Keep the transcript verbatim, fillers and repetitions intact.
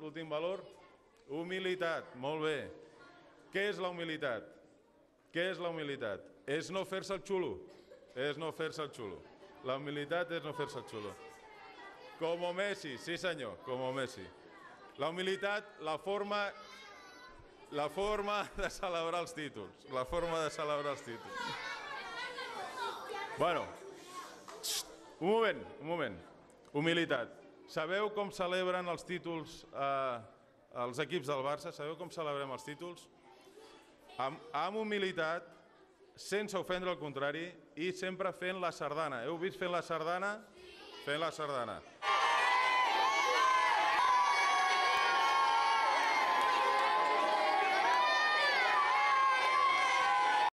l'últim valor? Humilitat, molt bé. Què és la humilitat? Què és la humilitat? És no fer-se el xulo. És no fer-se el xulo. La humilitat és no fer-se el xulo. Como Messi, sí senyor, como Messi. La humilitat, la forma, la forma de celebrar els títols. La forma de celebrar els títols. Bueno, un moment, un moment. Humilitat. Sabeu com celebren els títols eh, els equips del Barça? Sabeu com celebrem els títols? Amb, amb humilitat, sense ofendre el contrari i sempre fent la sardana. Heu vist fent la sardana? Fent la sardana.